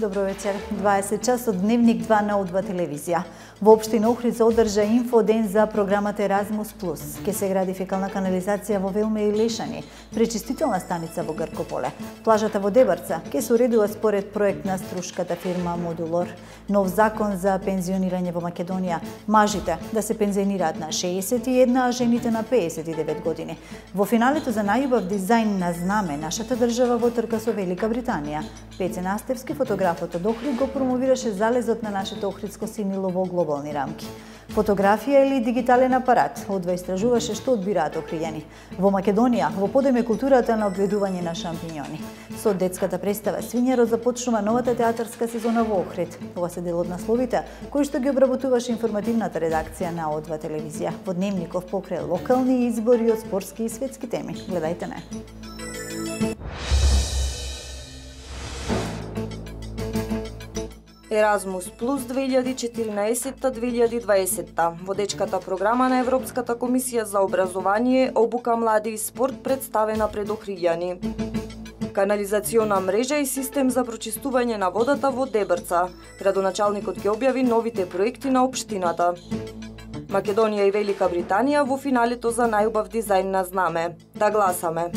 добро вечер. 20 часот дневник 2 на О2 телевизија. Во општина Охрид се одржа инфоден за програмата Еразмус Плюс. Ке се гради фекална канализација во Велме и Лешани, пречистителна станица во Гркополе. Плажата во Дебарца ке се уредува според проект на струшката фирма Модулор. Нов закон за пензионирање во Македонија. Мажите да се пензионираат на 61, а жените на 59 години. Во финалето за најубав дизајн на знаме нашата држава во трка со Велика Британија. Пеце Настевски, фотографот од Охрид, го промовираше залезот на нашето охридско синило во глобални рамки. Фотографија или дигитален апарат, О2 истражуваше што одбираат охриѓани. Во Македонија, во подем е културата на обгледување на шампиньони. Со детската представа Свињарот започнува новата театарска сезона во Охрид. Ова се дел од насловите кои што ги обработуваше информативната редакција на О2 телевизија. Во дневников покрај локални избори од спортски и светски теми. Гледајте не. Еразмус Плюс 2014-2020. Водечката програма на Европската комисија за образование, обука, млади и спорт представена пред охриѓани. Канализациона мрежа и систем за прочистување на водата во Дебарца. Градоначалникот ќе објави новите проекти на општината. Македонија и Велика Британија во финалето за најубав дизајн на знаме. Да гласаме!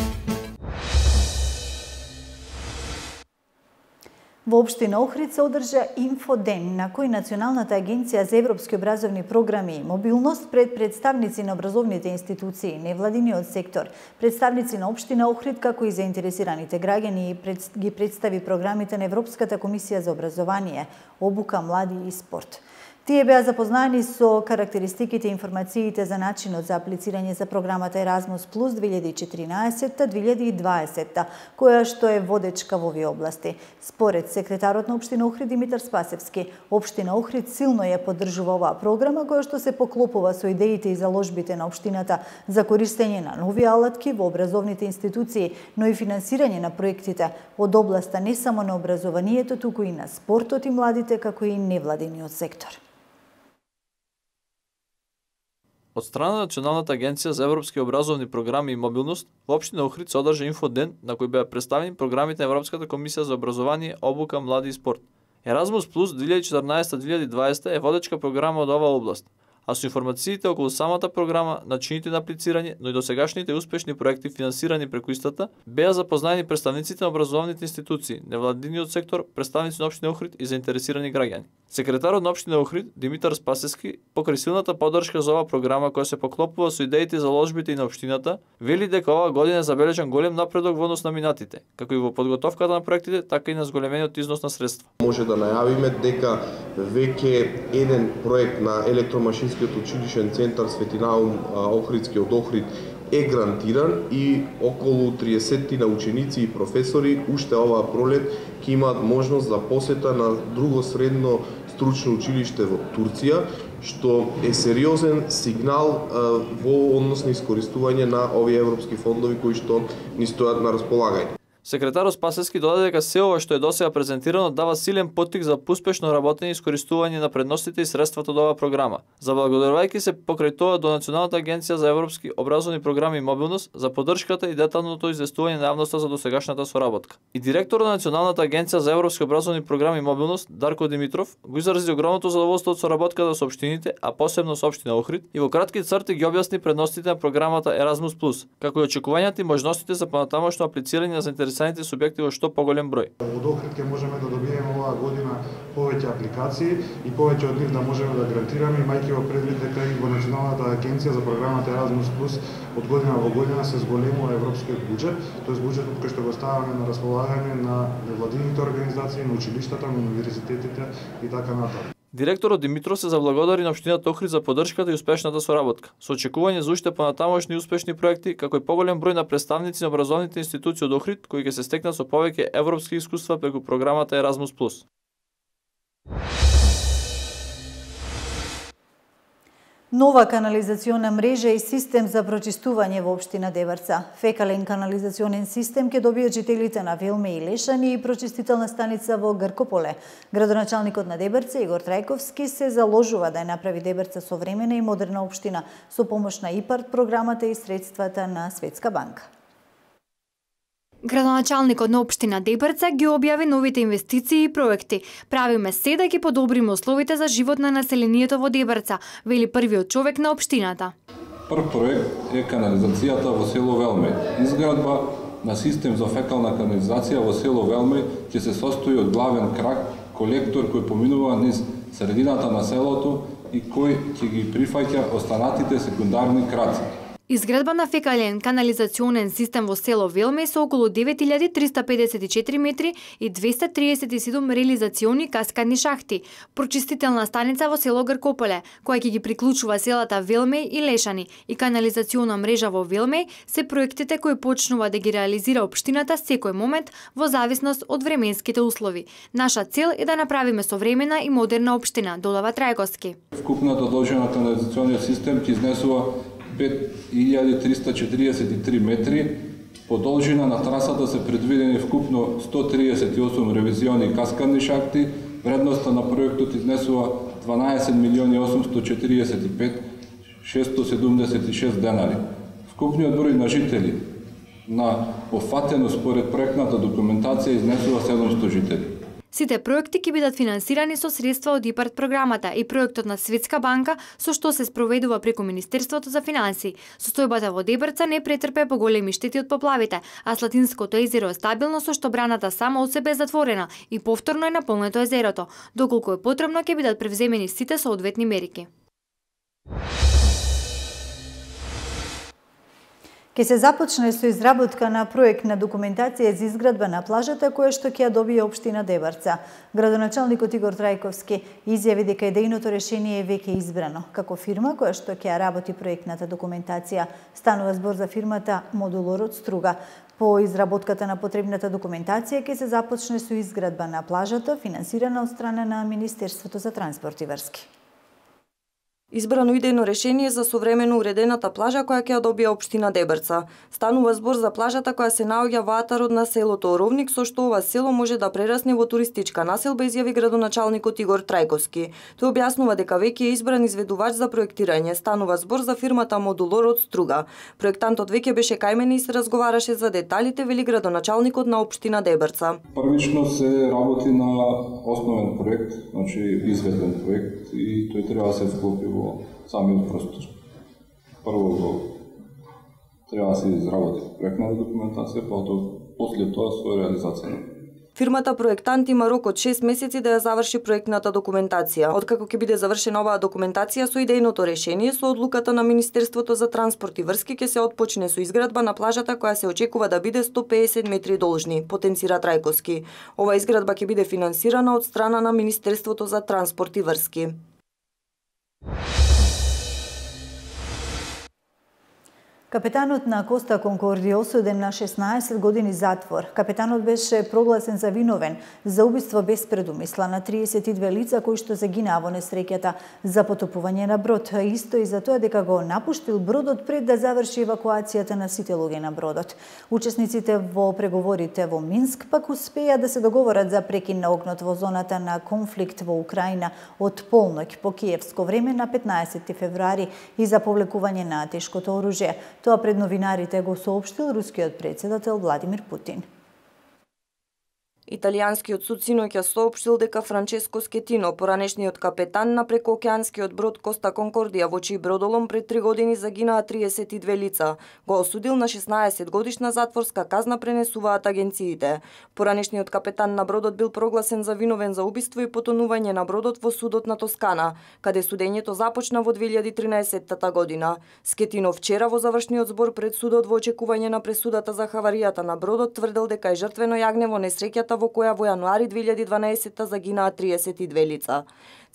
Во општина Охрид се одржа инфоден на кој Националната агенција за европски образовни програми и мобилност пред представници на образовните институции, невладиниот сектор, представници на општина Охрид како и заинтересираните граѓани ги представи програмите на Европската комисија за образование, обука, млади и спорт. Тие беа запознаени со карактеристиките и информациите за начинот за аплицирање за програмата Еразмус Плюс 2014-2020, која што е водечка во овие области. Според секретарот на општина Охрид Димитар Спасевски, општина Охрид силно ја поддржува оваа програма која што се поклопува со идеите и заложбите на општината за користење на нови алатки во образовните институции, но и финансирање на проектите од областа не само на образованието, туку и на спортот и младите, како и невладиниот сектор. Од страна на Националната агенција за европски образовни програми и мобилност, во општина Охрид се одржа инфоден на кој беа представени програмите на Европската комисија за образование, обука, млади и спорт. Еразмус Плюс 2014-2020 е водечка програма од оваа област, а со информациите околу самата програма, начините на аплицирање, но и досегашните успешни проекти финансирани преку истата, беа запознаени представниците на образовните институции, невладиниот сектор, представници на општина Охрид и заинтересирани граѓани. Секретарот на општина Охрид Димитар Спасевски, покрај силната поддршка за оваа програма која се поклопува со идеите и заложбите и на општината, вели дека оваа година е забележан голем напредок во однос на минатите, како и во подготовката на проектите, така и на зголемениот износ на средства. Може да најавиме дека веќе еден проект на електромашинскиот училишен центар Свети Наум Охридски од Охрид е грантиран и околу 30 на ученици и професори уште оваа пролет ќе имаат можност за посета на друго средно стручно училиште во Турција, што е сериозен сигнал во однос на искористување на овие европски фондови кои што ни стојат на располагање. Секретарот Спасевски додаде дека се ова што е досега презентирано дава силен поттик за успешно работење и искористување на предностите и средствата од оваа програма. Заблагодарувајќи се покрај тоа до Националната агенција за европски образовни програми и мобилност за поддршката и деталното известување на јавноста за досегашната соработка. И директорот на Националната агенција за европски образовни програми и мобилност Дарко Димитров го изрази огромното задоволство од соработката со општините, а посебно со општина Охрид, и во кратки црти ги објасни предностите на програмата Еразмус Плюс, како и очекувањата и можностите за понатамошно аплицирање на заинтересираните субјекти во што поголем број. Од Охрид ќе можеме да добиеме оваа година повеќе апликации и повеќе од нив да можеме да грантираме, имајќи во предвид дека и во Националната агенција за програмата Еразмус Плюс од година во година се зголемува европскиот буџет, тоест буџетот кој што го ставаме на располагање на невладините организации, на училиштата, на универзитетите и така натаму. Директорот Димитров се заблагодари на општината Охрид за поддршката и успешната соработка, со очекување за уште понатамошни успешни проекти, како и поголем број на представници на образовните институции од Охрид кои ќе се стекнат со повеќе европски искуства преку програмата Еразмус Плюс. Нова канализациона мрежа и систем за прочистување во општина Дебарца. Фекален канализационен систем ќе добијат жителите на Велме и Лешани и прочистителна станица во Гркополе. Градоначалникот на Дебарца Игор Трајковски се заложува да ја направи Дебарца современа и модерна општина со помош на ИПАРД програмата и средствата на Светска банка. Градоначалникот на општина Дебрца ги објави новите инвестиции и проекти. Правиме се да ги подобриме условите за живот на населението во Дебрца, вели првиот човек на општината. Прв проект е канализацијата во село Велмеј. Изградба на систем за фекална канализација во село Велмеј ќе се состои од главен крак, колектор кој поминува низ средината на селото и кој ќе ги прифаќа останатите секундарни краци. Изградба на фекален канализационен систем во село Велмеј со околу 9354 метри и 237 реализациони каскадни шахти, прочистителна станица во село Гркополе, која ќе ги приклучува селата Велмеј и Лешани, и канализациона мрежа во Велмеј се проектите кои почнува да ги реализира општината секој момент во зависност од временските услови. Наша цел е да направиме современа и модерна општина, додава Трајковски. Вкупната должина канализациониот систем ќе изнесува 5343 метри. По должина на трасата се предвидени вкупно 138 ревизиони каскадни шахти. Вредноста на проектот изнесува 12.845.676 денари. Вкупниот број на жители на пофатено според проектната документација изнесува 700 жители. Сите проекти ќе бидат финансирани со средства од ИПАРД програмата и проектот на Светска банка, со што се спроведува преку Министерството за финансии. Состојбата во Дебрца не претрпе поголеми штети од поплавите, а Слатинското езеро е стабилно, со што браната сама од себе е затворена и повторно е наполнето езерото. Доколку е потребно, ќе бидат превземени сите соодветни мерки. Ке се започне со изработка на проектна документација за изградба на плажата која што ќе ја добие општина Дебрца. Градоначалникот Игор Трајковски изјави дека идејното решение е веќе избрано. Како фирма која што ќе ја работи проектната документација, станува збор за фирмата Модулор од Струга. По изработката на потребната документација ќе се започне со изградба на плажата, финансирана од страна на Министерството за транспорт и врски. Избрано идејно решение за современо уредената плажа која ќе ја добие општина Дебрца. Станува збор за плажата која се наоѓа во атарот на селото Оровник, со што ова село може да прерасне во туристичка населба, изјави градоначалникот Игор Трајковски. Тој објаснува дека веќе е избран изведувач за проектирање. Станува збор за фирмата Модулор од Струга. Проектантот веќе беше кај мене и се разговараше за деталите, вели градоначалникот на општина Дебрца. Првично се работи на основен проект, значи изведен проект, и тој треба да се вклопи во самиот простор. Прво треба да се изработи проектната документација, после тоа со реализација. Фирмата проектант има рок од 6 месеци да ја заврши проектната документација. Откако ќе биде завршена оваа документација со идејното решение, со одлуката на Министерството за транспорт и врски ќе се отпочне со изградба на плажата која се очекува да биде 150 метри должни, потенцира Трајковски. Ова изградба ќе биде финансирана од страна на Министерството за транспорт и врски. Капетанот на Коста Конкордија осуден на 16 години затвор. Капетанот беше прогласен за виновен за убиство без предумисла на 32 лица кои што загинаа во несреќата за потопување на брод. Исто и за тоа дека го напуштил бродот пред да заврши евакуацијата на сите луѓе на бродот. Учесниците во преговорите во Минск пак успеа да се договорат за прекин на огнот во зоната на конфликт во Украина од полноќ по киевско време на 15 февруари и за повлекување на тешкото оружје. Тоа пред новинарите го соопштил рускиот претседател Владимир Путин. Италијанскиот суд синоќа соопштил дека Франческо Скетино, поранешниот капетан на прекоокеанскиот брод Коста Конкордија, во чиј бродолом пред 3 години загинаа 32 лица, го осудил на 16 годишна затворска казна, пренесуваат агенциите. Поранешниот капетан на бродот бил прогласен за виновен за убиство и потонување на бродот во судот на Тоскана, каде судењето започна во 2013 година. Скетино вчера во завршниот збор пред судот во очекување на пресудата за хаваријата на бродот тврдел дека е жртвено јагне во несреќата во која во јануари 2012 загинаа 32 лица.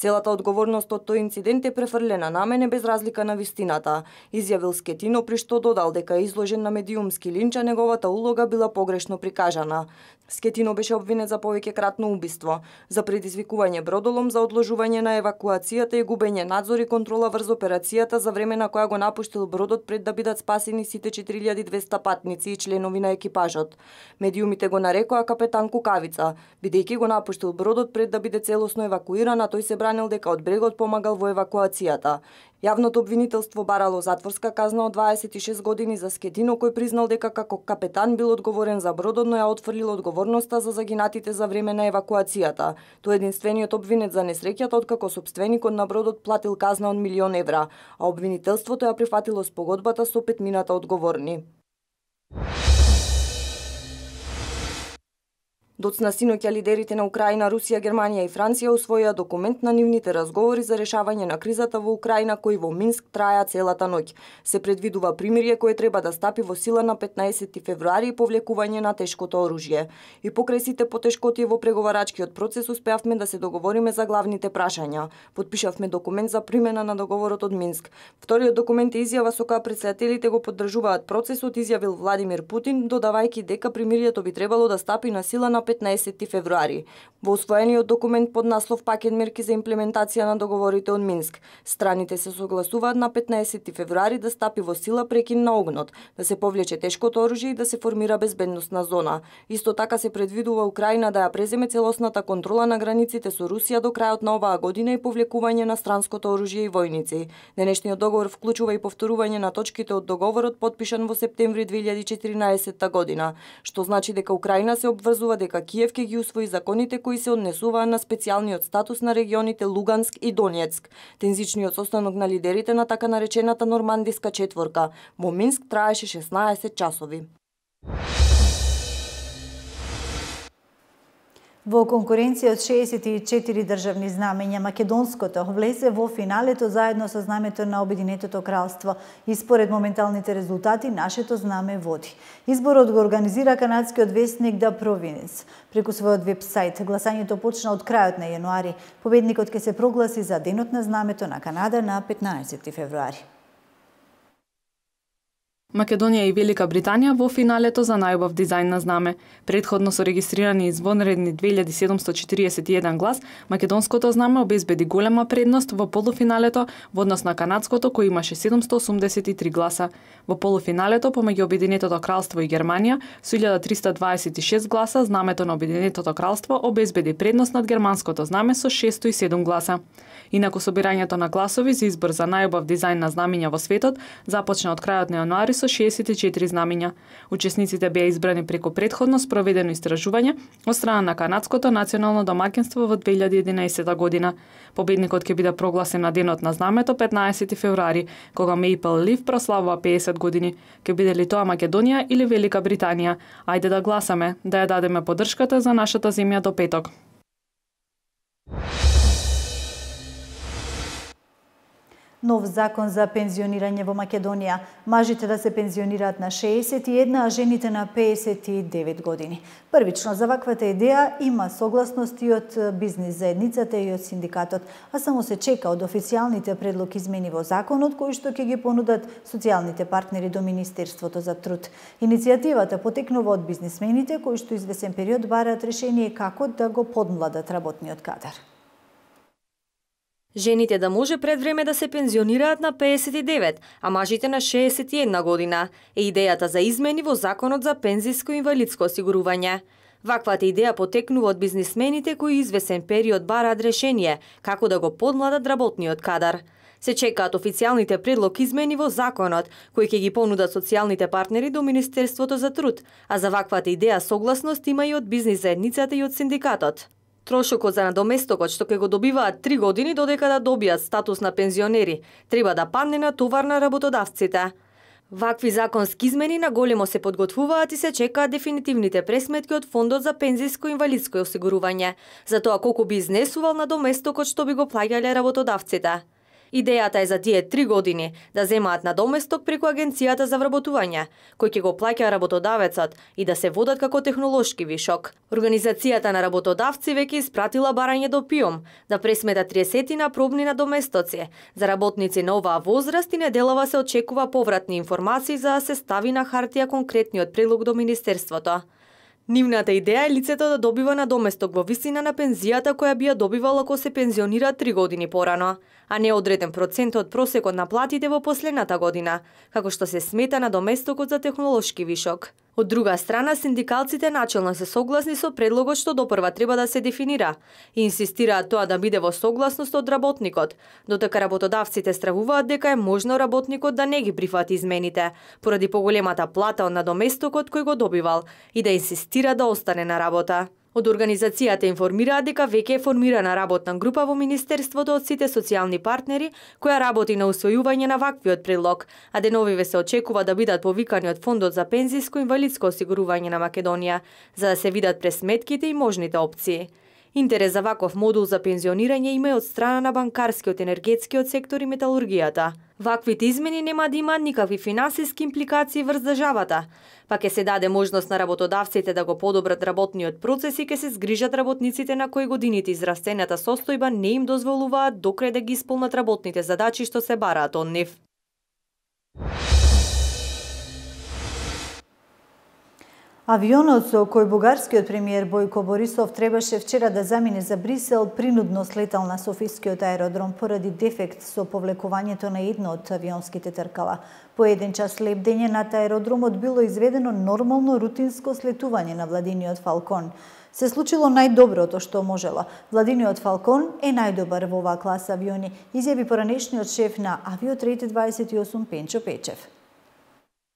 Целата одговорност од тој инцидент е префрлена на мене без разлика на вистината, изјавил Скетино, при што додал дека е изложен на медиумски линч, а неговата улога била погрешно прикажана. Скетино беше обвинет за повеќекратно убиство, за предизвикување бродолом, за одложување на евакуацијата и губење надзор и контрола врз операцијата за време на која го напуштил бродот пред да бидат спасени сите 4200 патници и членови на екипажот. Медиумите го нарекоа капетан Кукавица, бидејќи го напуштил бродот пред да биде целосно евакуиран, а тој се брани бранил дека од брегот помагал во евакуацијата. Јавното обвинителство барало затворска казна од 26 години за Скетино, кој признал дека како капетан бил одговорен за бродот, но ја отфрлил одговорноста за загинатите за време на евакуацијата. Тој е единствениот обвинет за несреќата, откако сопственикот на бродот платил казна од 1.000.000 евра, а обвинителството ја прифатило спогодбата со 5 одговорни. Доцна синоќа лидерите на Украина, Русија, Германија и Франција усвоија документ на нивните разговори за решавање на кризата во Украина, кои во Минск траја целата ноќ. Се предвидува примирие кое треба да стапи во сила на 15 февруари и повлекување на тешкото оружје. И покрај сите потешкотии во преговарачкиот процес успеавме да се договориме за главните прашања. Подпишавме документ за примена на договорот од Минск. Вториот документ е изјава со која претседателите го поддржуваат процесот, изјавил Владимир Путин, додавајќи дека примирието би требало да стапи на сила на 15 февруари. Во усвоениот документ под наслов Пакет мерки за имплементација на договорите од Минск, страните се согласуваат на 15 февруари да стапи во сила прекин на огнот, да се повлече тешкото оружје и да се формира безбедносна зона. Исто така се предвидува Украина да ја преземе целосната контрола на границите со Русија до крајот на оваа година и повлекување на странското оружје и војници. Денешниот договор вклучува и повторување на точките од договорот подпишан во септември 2014 година, што значи дека Украина се обврзува дека Киев ќе ги усвои законите кои се однесуваат на специјалниот статус на регионите Луганск и Донецк. Тензичниот состанок на лидерите на така наречената Нормандиска четворка во Минск траеше 16 часови. Во конкуренција од 64 државни знамења, македонското влезе во финалето заедно со знамето на Обединетото кралство и според моменталните резултати нашето знаме води. Изборот го организира канадскиот весник The Province. Преку својот веб-сајт гласањето почна од крајот на јануари. Победникот ќе се прогласи за Денот на знамето на Канада на 15 февруари. Македонија и Велика Британија во финалето за најубав дизајн на знаме. Предходно со регистрирани извонредни 2741 глас, македонското знаме обезбеди голема предност во полуфиналето во однос на канадското кој имаше 783 гласа. Во полуфиналето помеѓу Обединетото кралство и Германија со 1326 гласа знамето на Обединетото кралство обезбеди предност над германското знаме со 607 гласа. Инаку собирањето на гласови за избор за најубав дизајн на знамиња во светот започна од крајот на јануари со 64 знамиња. Учесниците беа избрани преку претходно спроведено истражување од страна на канадското национално домаќинство во 2011 година. Победникот ќе биде прогласен на Денот на знамето 15 февруари, кога Maple Leaf прославува 50 години. Ќе биде ли тоа Македонија или Велика Британија? Ајде да гласаме, да ја дадеме поддршката за нашата земја до петок. Нов закон за пензионирање во Македонија. Мажите да се пензионираат на 61, а жените на 59 години. Првично за ваквата идеја има согласност и од бизнис заедницата и од синдикатот, а само се чека од официјалните предлог измени во законот кои што ќе ги понудат социјалните партнери до Министерството за труд. Иницијативата потекнува од бизнисмените кои што извесен период бараат решение како да го подмладат работниот кадар. Жените да може пред време да се пензионираат на 59, а мажите на 61 година е идејата за измени во Законот за пензиско и инвалидско осигурување. Ваквата идеја потекнува од бизнисмените кои извесен период бараат решение како да го подмладат работниот кадар. Се чекаат официјалните предлог измени во законот, кои ќе ги понудат социјалните партнери до Министерството за труд, а за ваквата идеја согласност има и од бизнис заедницата и од синдикатот. Трошокот за надоместокот што ќе го добиваат 3 години додека да добијат статус на пензионери, треба да падне на товар на работодавците. Вакви законски измени на големо се подготвуваат и се чекаат дефинитивните пресметки од Фондот за пензиско и инвалидско осигурување, за тоа колку би изнесувал надоместокот што би го плаќале работодавците. Идејата е за тие 3 години да земаат надоместок преку Агенцијата за вработување, кој ќе го плаќа работодавецот и да се водат како технолошки вишок. Организацијата на работодавци веќе испратила барање до ПИОМ да пресмета 30 пробни надоместоци за работници на оваа возраст и неделава се очекува повратни информации за да се стави на хартија конкретниот предлог до Министерството. Нивната идеја е лицето да добива надоместок во висина на пензијата која би ја добивало ако се пензионира 3 години порано, а не одреден процент од просекот на платите во последната година, како што се смета на доместокот за технолошки вишок. Од друга страна, синдикалците начелно се согласни со предлогот што допрва треба да се дефинира и инсистираат тоа да биде во согласност од работникот, додека работодавците стравуваат дека е можно работникот да не ги прифати измените, поради поголемата плата од надоместокот кој го добивал и да инсистира да остане на работа. Од организацијата информираат дека веќе е формирана работна група во Министерството од сите социјални партнери која работи на усвојување на ваквиот предлог, а деновиве се очекува да бидат повикани од Фондот за пензиско и инвалидско осигурување на Македонија, за да се видат пресметките и можните опции. Интерес за ваков модул за пензионирање има и од страна на банкарскиот, енергетскиот сектор и металургијата. Ваквите измени нема да имаат никакви финансиски импликации врз државата, па ќе се даде можност на работодавците да го подобрат работниот процес и ќе се згрижат работниците на кои годините израстената состојба не им дозволуваат докрај да ги исполнат работните задачи што се бараат од нив. Авионот со кој бугарскиот премиер Бојко Борисов требаше вчера да замине за Брисел принудно слетал на Софискиот аеродром поради дефект со повлекувањето на едно од авионските тркала. По 1 час лебдење над аеродромот било изведено нормално рутинско слетување на Владиниот Фалкон. Се случило најдоброто што можело. Владиниот Фалкон е најдобар во оваа класа авиони, изјави поранешниот шеф на Авиотрейд 28 Пенчо Печев.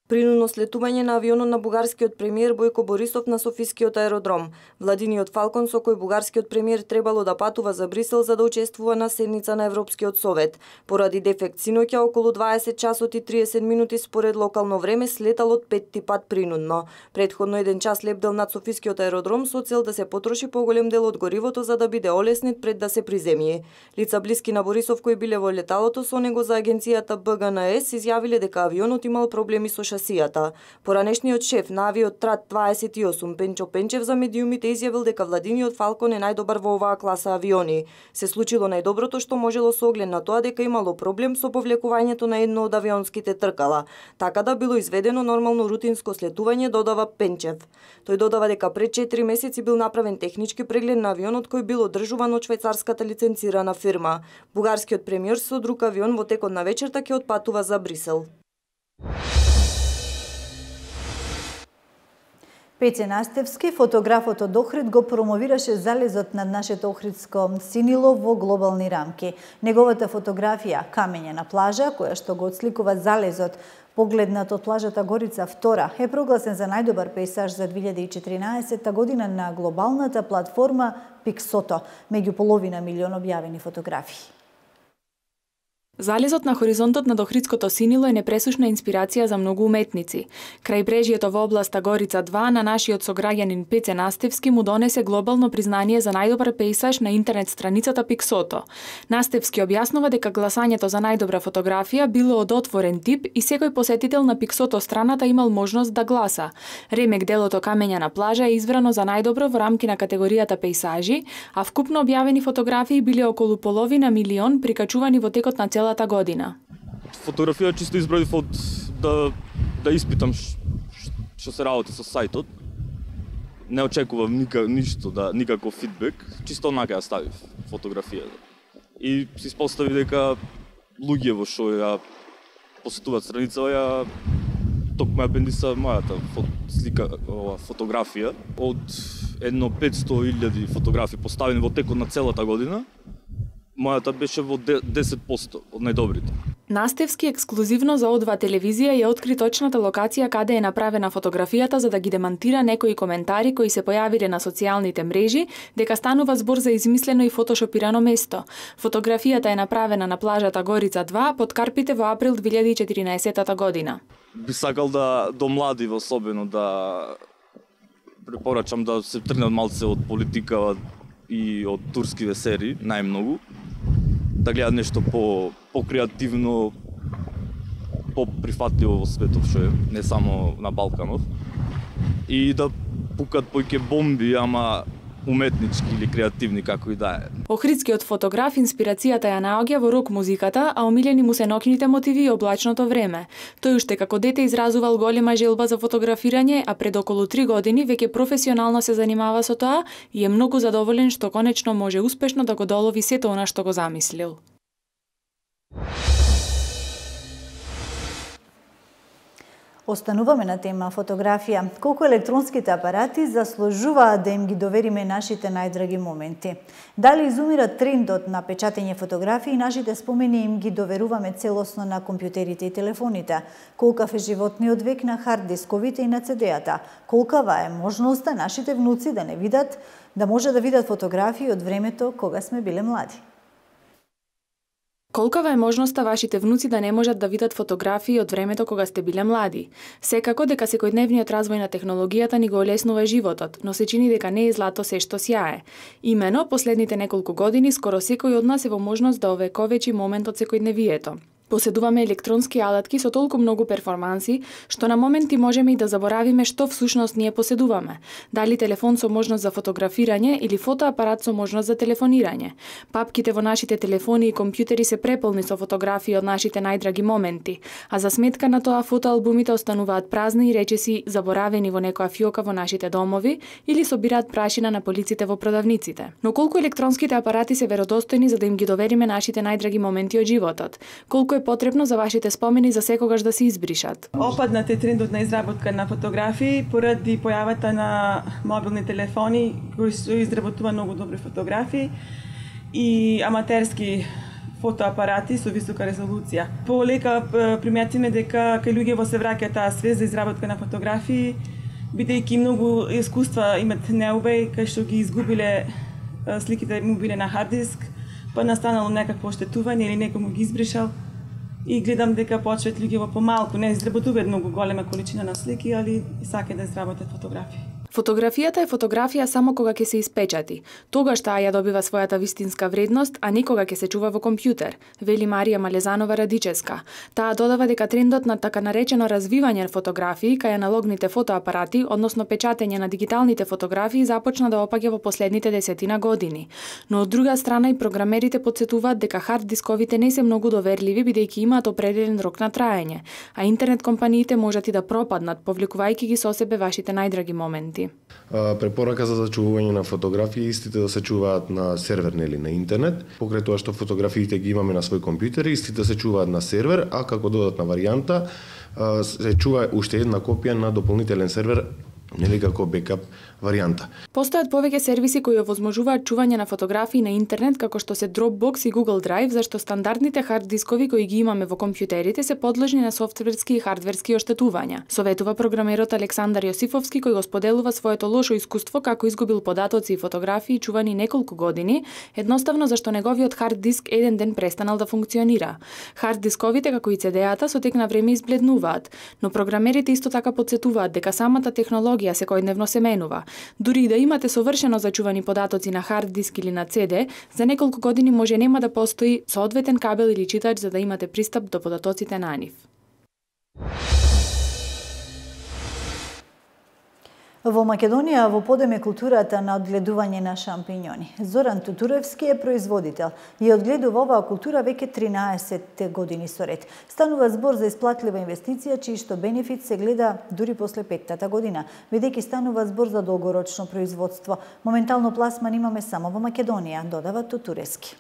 Принудно слетување на авионот на бугарскиот премиер Бојко Борисов на Софискиот аеродром. Владиниот Фалкон со кој бугарскиот премиер требало да патува за Брисел за да учествува на седница на Европскиот совет. Поради дефект синоќа околу 20 часот и 30 минути според локално време слетал од петти пат принудно. Претходно 1 час лебдел над Софискиот аеродром со цел да се потроши поголем дел од горивото за да биде олеснет пред да се приземи. Лица блиски на Борисов кои биле во леталото со него за агенцијата БГНС изјавиле дека авионот имал проблеми со шасијата. Поранешниот шеф на Авиотрейд 28 Пенчо Пенчев за медиумите изјавил дека Владиниот Фалкон е најдобар во оваа класа авиони. Се случило најдоброто што можело со оглед на тоа дека имало проблем со повлекувањето на едно од авионските тркала. Така да било изведено нормално рутинско слетување, додава Пенчев. Тој додава дека пред 4 месеци бил направен технички преглед на авионот кој бил одржуван од швајцарската лиценцирана фирма. Бугарскиот премиер со друг авион во текот на вечерта ќе отпатува за Брисел. Пеце Настевски, фотографот од Охрид, го промовираше залезот над нашето охридско синило во глобални рамки. Неговата фотографија, камење на плажа, која што го отсликува залезот, погледнат од плажата Горица 2, е прогласен за најдобар пейсаж за 2014 година на глобалната платформа Pixoto, меѓу половина милион објавени фотографии. Залезот на хоризонтот над Охридското синило е непресушна инспирација за многу уметници. Крајбрежјето во областа Горица 2 на нашиот сограѓанин Пеце Настевски му донесе глобално признание за најдобар пейсаж на интернет страницата Pixoto. Настевски објаснува дека гласањето за најдобра фотографија било од отворен тип и секој посетител на Pixoto страната имал можност да гласа. Ремек делото камења на плажа е избрано за најдобро во рамки на категоријата пейсажи, а вкупно објавени фотографии биле околу половина милион прикачувани во текот на целата година. Фотографија чисто избравив од да испитам што се работи со сајтот. Не очекував ништо, никаков фидбек, чисто онака ја ставив фотографијата. И се испостави дека луѓе во што ја посетуваат страница ја токму ја бендиса мојата фотографија од едно 500.000 фотографии поставени во текот на целата година. Мојата беше во 10% од најдобрите. Настевски ексклузивно за О2 телевизија ја откри точната локација каде е направена фотографијата за да ги демантира некои коментари кои се појавиле на социјалните мрежи дека станува збор за измислено и фотошопирано место. Фотографијата е направена на плажата Горица 2 под Карпите во април 2014 година. Би сакал до млади особено да препорачам да се тргнат малце од политика и од турскиве серии, најмногу. Да гледат нешто по-креативно, по-прифатливо во светот, што е, не само на Балканот. И да пукат поиќе бомби, ама уметнички или креативни, како и да е. Охридскиот фотограф инспирацијата ја наоѓа во рок музиката, а омилени му се ноќните мотиви и облачното време. Тој уште како дете изразувал голема желба за фотографирање, а пред околу 3 години веќе професионално се занимава со тоа и е многу задоволен што конечно може успешно да го долови сето она што го замислил. Остануваме на тема фотографија. Колку електронските апарати заслужуваат да им ги довериме нашите најдраги моменти? Дали изумира трендот на печатење фотографии и нашите спомени им ги доверуваме целосно на компјутерите и телефоните? Колкав е животниот век на хард дисковите и на CD-ата? Колкава е можноста нашите внуци да не видат, да може да видат фотографии од времето кога сме биле млади? Колкава е можноста вашите внуци да не можат да видат фотографии од времето кога сте биле млади? Секако дека секојдневниот развој на технологијата ни го олеснува животот, но се чини дека не е злато се што сјае. Имено, последните неколку години, скоро секој од нас е во можност да овековечи момент од секојдневието. Поседуваме електронски алатки со толку многу перформанси, што на моменти можеме и да заборавиме што всушност ние поседуваме. Дали телефон со можност за фотографирање или фотоапарат со можност за телефонирање. Папките во нашите телефони и компјутери се преполни со фотографии од нашите најдраги моменти, а за сметка на тоа фотоалбумите остануваат празни и речиси заборавени во некоја фиока во нашите домови или собираат прашина на полиците во продавниците. Но колку електронските апарати се веродостојни за да им ги довериме нашите најдраги моменти од животот? Колку е потребно за вашите спомени за секогаш да се избришат? Опаднат е трендот на изработка на фотографии поради појавата на мобилни телефони кои изработува многу добри фотографии и аматерски фотоапарати со висока резолуција. Полека приметиме дека кај луѓе се враќа таа свест за изработка на фотографии, бидејќи многу искуства имат неубеј кај што ги изгубиле сликите му биле на хард диск, па настанало некакво оштетување или некој му ги избришал. И гледам дека почваат луѓе во помалку, не изработуваат многу голема количина на слики, али сакаат да изработат фотографии. Фотографијата е фотографија само кога ќе се испечати. Тогаш таа ја добива својата вистинска вредност, а не кога ќе се чува во компјутер, вели Марија Малезанова Радичевска. Таа додава дека трендот на така наречено развивање на фотографии кај аналогните фотоапарати, односно печатење на дигиталните фотографии, започна да опаѓа во последните 10 години. Но од друга страна и програмерите потсетуваат дека хард дисковите не се многу доверливи бидејќи имаат определен рок на траење, а интернет компаниите можат и да пропаднат, повлекувајќи ги со себе вашите најдраги моменти. Препорака за зачувување на фотографии истите да се чуваат на сервер или на интернет, покрај тоа што фотографиите ги имаме на свој компјутер, истите се чуваат на сервер, а како додатна варијанта се чува уште една копија на дополнителен сервер, нели како бекап варијанта. Постојат повеќе сервиси кои овозможуваат чување на фотографии на интернет како што се Dropbox и Google Drive, зашто стандардните хард дискови кои ги имаме во компјутерите се подложни на софтверски и хардверски оштетувања. Советува програмерот Александар Јосифовски кој го споделува своето лошо искуство како изгубил податоци и фотографии чувани неколку години, едноставно зашто неговиот хард диск еден ден престанал да функционира. Хард дисковите како и CD-ата со тек на време избледнуваат, но програмерите исто така потсетуваат дека самата технологија секојдневно се менува. Дури и да имате совршено зачувани податоци на хард диск или на CD, за неколку години може нема да постои соодветен кабел или читач за да имате пристап до податоците на нив. Во Македонија во подеме културата на одгледување на шампиньони. Зоран Тутуревски е производител и одгледува оваа култура веќе 13 години соред. Станува збор за исплатлива инвестиција, чиј што бенефит се гледа дури после 5-та година, бидејќи станува збор за долгорочно производство. Моментално пласман имаме само во Македонија, додава Тутуревски.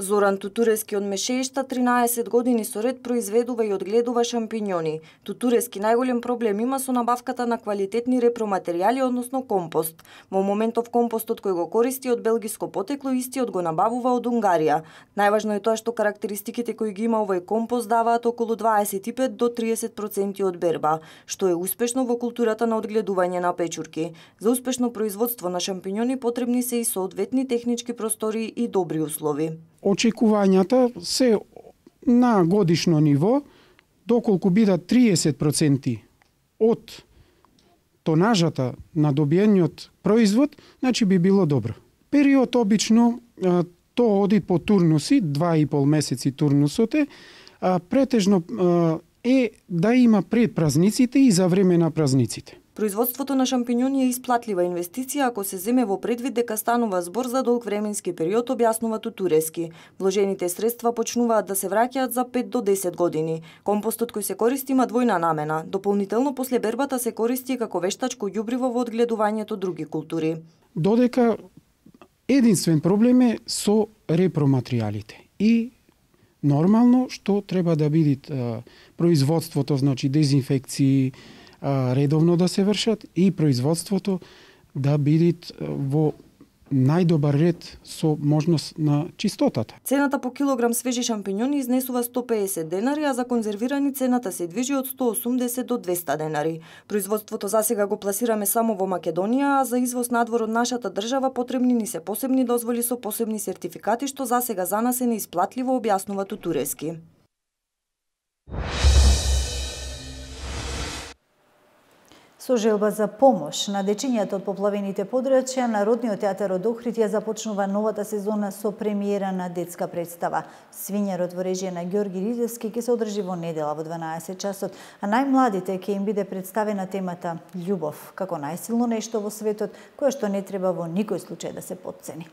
Зоран Тутуревски од Мешеишта 13 години соред произведува и одгледува шампиньони. Тутуревски најголем проблем има со набавката на квалитетни репроматеријали, односно компост. Во моментов компостот кој го користи од белгиско потекло, истиот го набавува од Унгарија. Најважно е тоа што карактеристиките кои ги има овој компост даваат околу 25 до 30% од берба, што е успешно во културата на одгледување на печурки. За успешно производство на шампиньони потребни се и соодветни технички простори и добри услови. Очекувањата се на годишно ниво, доколку бидат 30% од тонажата на добиениот производ, значи би било добро. Период обично тоа оди по турнуси, 2,5 месеци турнусот е, претежно е да има пред празниците и за време на празниците. Производството на шампиньони е исплатлива инвестиција ако се земе во предвид дека станува збор за долг временски период, објаснува Тутуревски. Вложените средства почнуваат да се враќаат за 5 до 10 години. Компостот кој се користи има двојна намена. Дополнително после бербата се користи како вештачко ѓубриво во одгледувањето други култури. Додека единствен проблем е со репроматеријалите. и нормално што треба да биде производството, значи дезинфекции редовно да се вршат и производството да биде во најдобар ред со можност на чистотата. Цената по килограм свежи шампиньони изнесува 150 денари, а за конзервирани цената се движи од 180 до 200 денари. Производството засега го пласираме само во Македонија, а за извоз надвор од нашата држава потребни ни се посебни дозволи со посебни сертификати, што засега за нас е неисплатливо, објаснува Тутурески. Со желба за помош на дечињата од поплавените подрачја, Народниот театар од Охрид ја започнува новата сезона со премиера на детска представа. Свињарот во режија на Ѓорги Ризевски ќе се одржи во недела во 12 часот, а најмладите ќе им биде представена темата љубов, како најсилно нешто во светот, кое што не треба во никој случај да се потцени.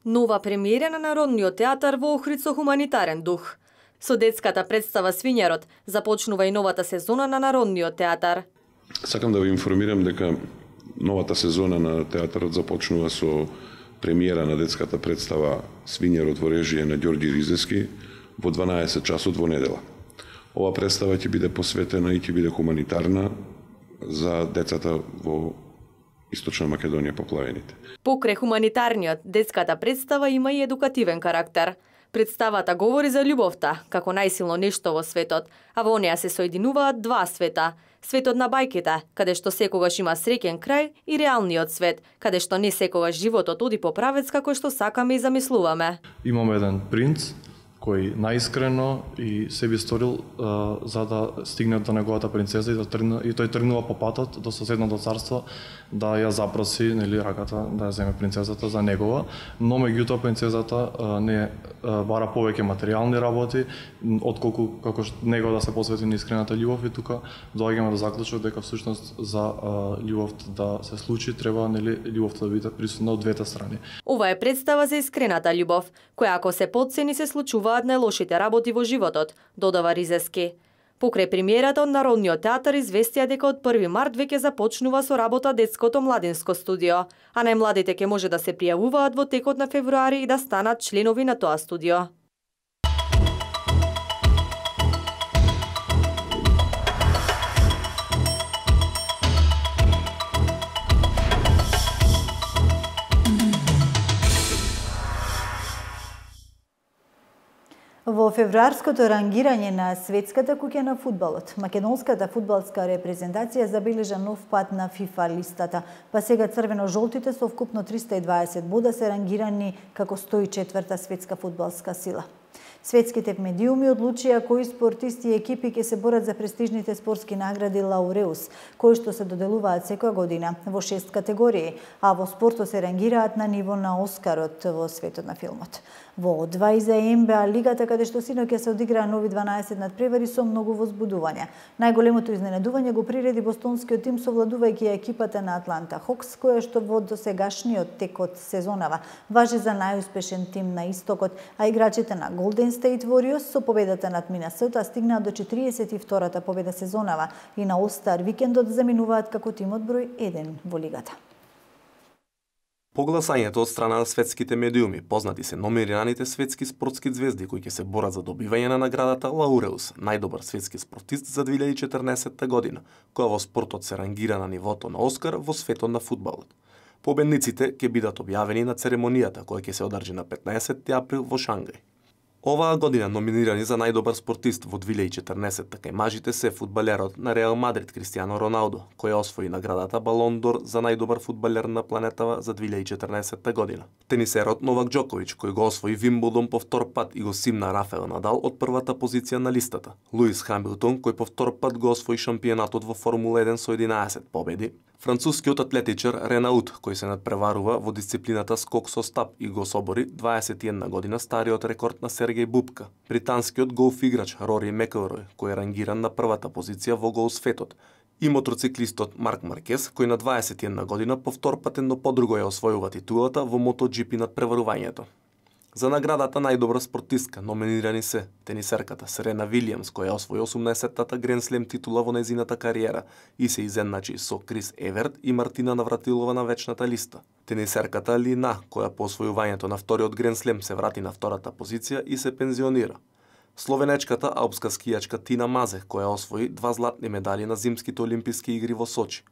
Нова премиера на Народниот театар во Охрид со хуманитарен дух. Со детската представа Свињарот започнува и новата сезона на Народниот театар. Сакам да ви информирам дека новата сезона на театарот започнува со премиера на детската представа Свињарот во режија на Ѓорги Ризевски во 12 часот во недела. Ова представа ќе биде посветена и ќе биде хуманитарна за децата во Источна Македонија поплавените. Покрај хуманитарниот, детската представа има и едукативен карактер. Представата говори за љубовта, како најсилно нешто во светот, а во неа се соединуваат два света. Светот на бајките, каде што секогаш има среќен крај, и реалниот свет, каде што не секогаш животот оди по правец како што сакаме и замислуваме. Имаме еден принц кој најискрено и се би сторил за да стигне до неговата принцеза и тој тргнува по патот до соседното царство да ја запроси раката да ја земе принцезата за негова, но меѓутоа принцезата не бара повеќе материјални работи отколку како него да се посвети на искрената љубов, и тука доаѓаме до заклучок дека всушност за љубовта да се случи треба љубовта да биде присутна од двете страни. Ова е представа за искрената љубов, која ако се потцени се случува најлошите работи во животот, додава Ризевски. Покрај премиерата од Народниот театар известија дека од 1 март веќе започнува со работа детското младинско студио, а најмладите ќе може да се пријавуваат во текот на февруари и да станат членови на тоа студио. Во февруарското рангирање на Светската куќа на фудбалот, македонската фудбалска репрезентација забележа нов пат на ФИФА листата, па сега црвено-жолтите со вкупно 320 бода се рангирани како 104-та светска фудбалска сила. Светските медиуми одлучија кои спортисти и екипи ќе се борат за престижните спортски награди Лауреус, кои што се доделуваат секоја година во 6 категории, а во спортот се рангираат на ниво на Оскарот во светот на филмот. Во 2 за НБА лигата, каде што синоќа се одиграа нови 12 надпревари со многу возбудувања. Најголемото изненадување го приреди бостонскиот тим совладувајќи екипата на Атланта Хокс, која што во досегашниот тек од сезонава важи за најуспешен тим на истокот, а играчите на Golden State Warriors со победата над Минесота стигнаа до 42-та победа сезонава и на All-Star викендот заминуваат како тимот број 1 во лигата. По гласањето од страна на светските медиуми, познати се номинираните светски спортски звезди кои ќе се борат за добивање на наградата Лауреус, најдобар светски спортист за 2014 година, која во спортот се рангира на нивото на Оскар во светот на фудбалот. Победниците ќе бидат објавени на церемонијата која ќе се одржи на 15 април во Шангај. Оваа година номинирани за најдобар спортист во 2014 кај мажите се фудбалерот на Реал Мадрид Кристијано Роналдо, кој освои наградата Балон д'Ор за најдобар фудбалер на планетава за 2014 година. Тенисерот Новак Џоковиќ, кој го освои Вимблдон по втор пат и го симна Рафаел Надал од првата позиција на листата. Луис Хамилтон, кој по втор пат го освои шампионатот во Формула 1 со 11 победи. Францускиот атлетичар Ренаут, кој се надпреварува во дисциплината скок со стап и го собори 21 година стариот рекорд на Сергеј Бубка. Британскиот голф играч Рори Мекелрој, кој е рангиран на првата позиција во голсветот. И мотоциклистот Марк Маркес, кој на 21 година по втор патен, но подруго ја освојува титулата во MotoGP надпреварувањето. За наградата најдобра спортистка номинирани се тенисерката Серена Вилијамс, која освои 18-тата Гранд Слем титула во нејзината кариера и се изедначи со Крис Еверт и Мартина Навратилова на вечната листа. Тенисерката Ли На, која по освојувањето на вториот Гранд Слем се врати на втората позиција и се пензионира. Словенечката алпска скијачка Тина Мазех, која освои 2 златни медали на зимските олимписки игри во Сочи.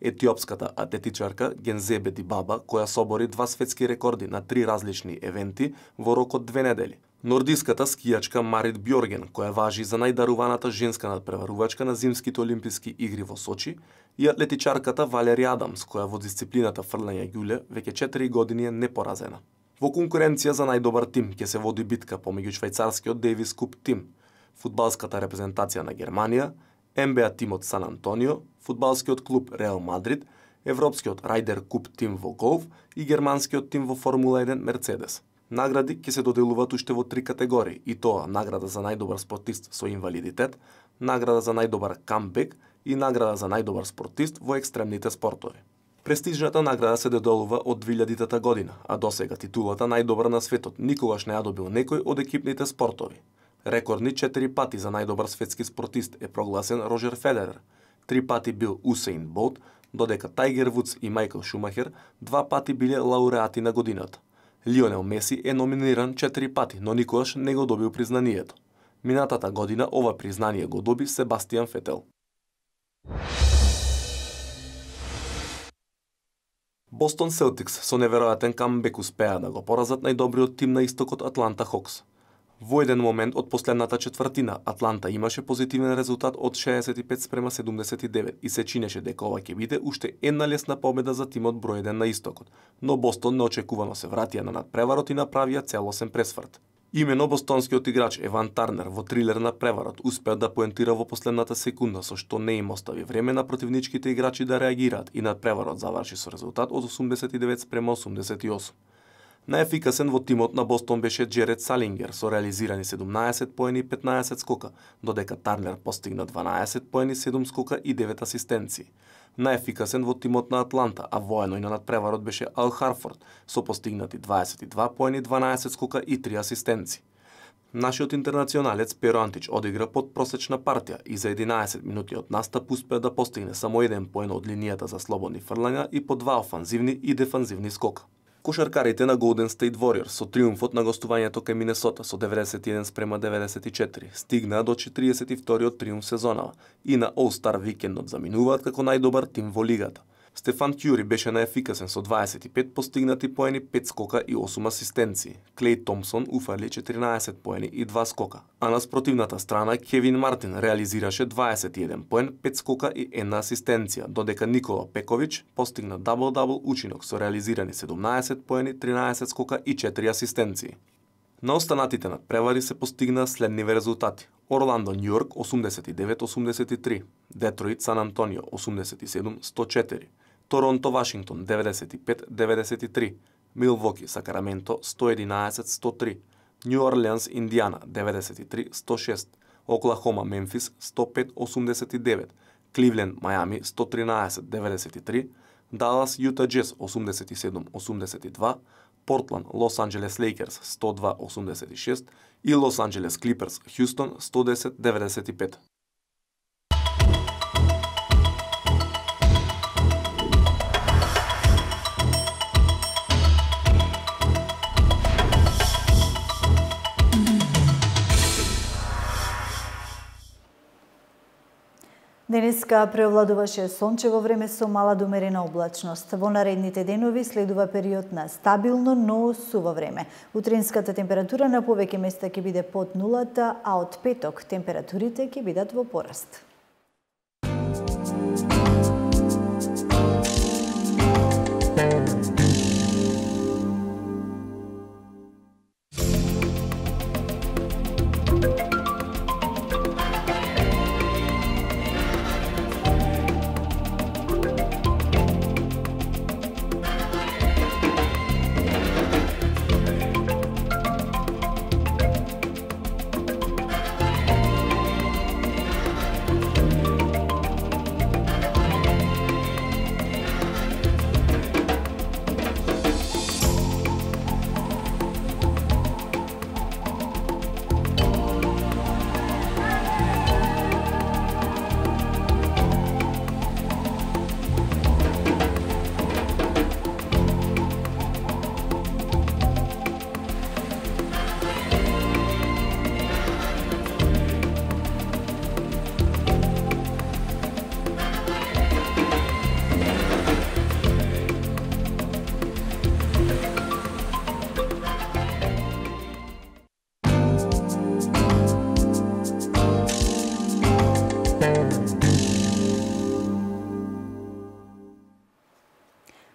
Етиопската атлетичарка Гензебе Дибаба, која собори 2 светски рекорди на 3 различни евенти во рок од 2 недели. Нордиската скијачка Марит Бјорген, која важи за најдаруваната женска надпреварувачка на зимските олимписки игри во Сочи, и атлетичарката Валери Адамс, која во дисциплината фрлање ѓуле веќе 4 години е непоразена. Во конкуренција за најдобар тим ќе се води битка помеѓу швајцарскиот Дейвис Куп тим, фудбалската репрезентација на Германија, НБА тимот Сан Антонио, фудбалскиот клуб Реал Мадрид, европскиот Райдер Куп тим во голф и германскиот тим во Формула 1 Мерцедес. Награди ќе се доделуваат уште во 3 категории, и тоа награда за најдобар спортист со инвалидитет, награда за најдобар камбек и награда за најдобар спортист во екстремните спортови. Престижната награда се доделува од 2000-та година, а досега титулата најдобар на светот никогаш не ја добил некој од екипните спортови. Рекордни 4 пати за најдобар светски спортист е прогласен Роджер Федерер, 3 пати бил Усейн Болт, додека Тајгер Вудс и Мајкл Шумахер 2 пати биле лауреати на годината. Лионел Меси е номиниран 4 пати, но никогаш не го добил признанието. Минатата година ова признание го доби Себастијан Фетел. Бостон Селтикс со неверојатен камбек успеа да го поразат најдобриот тим на истокот Атланта Хокс. Во еден момент од последната четвртина Атланта имаше позитивен резултат од 65-79 и се чинеше дека ова ќе биде уште една лесна победа за тимот број 1 на истокот, но Бостон неочекувано се вратија на надпреварот и направија целосен пресврт. Имено бостонскиот играч Еван Тарнер во трилер на преварот успеа да поентира во последната секунда, со што не им остави време на противничките играчи да реагираат и надпреварот заврши со резултат од 89-88. Најефикасен во тимот на Бостон беше Джеред Салингер со реализирани 17 поени и 15 скока, додека Тарнер постигна 12 поени, 7 скока и 9 асистенции. Најефикасен во тимот на Атланта, а воено и на надпреварот беше Ал Харфорд со постигнати 22 поени, 12 скока и 3 асистенции. Нашиот интернационалец Перо Антич одигра подпросечна партија и за 11 минути од настап успеа да постигне само 1 поен од линијата за слободни фрлања и по 2 офанзивни и дефанзивни скока. Кошаркарите на Golden State Warriors со триумфот на гостувањето кај Минесота со 91-94 стигнаа до 42-тиот триумф сезонава и на All-Star викендот заминуваат како најдобар тим во лигата. Стефан Кјури беше најефикасен со 25 постигнати поени, 5 скока и 8 асистенции. Клеј Томпсон уфарли 14 поени и 2 скока, а на спротивната страна Кевин Мартин реализираше 21 поен, 5 скока и 1 асистенција, додека Никола Пекович постигна дабл-дабл учинок со реализирани 17 поени, 13 скока и 4 асистенции. На останатите надпревари се постигнаа следниве резултати. Орландо Њујорк 89-83, Детройт Сан Антонио 87-104, Торонто Вашингтон 95-93, Милвоки Сакраменто 111-103, Њу Орлеанс Индијана 93-106, Оклахома Мемфис 105-89, Кливленд Мајами 113-93, Далас Јута Джез 87-82, Портланд Лос Анџелес Лейкерс 102-86 и Лос Анџелес Клиперс Хјустон 110-95. Денеска преовладуваше сончево време со мала до умерена облачност. Во наредните денови следува период на стабилно, но суво време. Утринската температура на повеќе места ќе биде под нулата, а од петок температурите ќе бидат во пораст.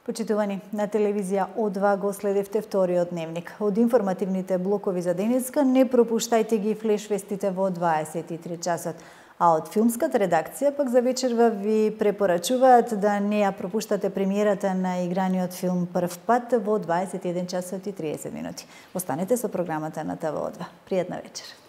Почитувани, на телевизија О2 го следевте вториот дневник. Од информативните блокови за денеска не пропуштајте ги флеш-вестите во 23 часот. А од филмската редакција пак за вечерва ви препорачуваат да не ја пропуштате премиерата на играниот филм Прв пат во 21 часот и 30 минути. Останете со програмата на ТВ О2. Пријатна вечер.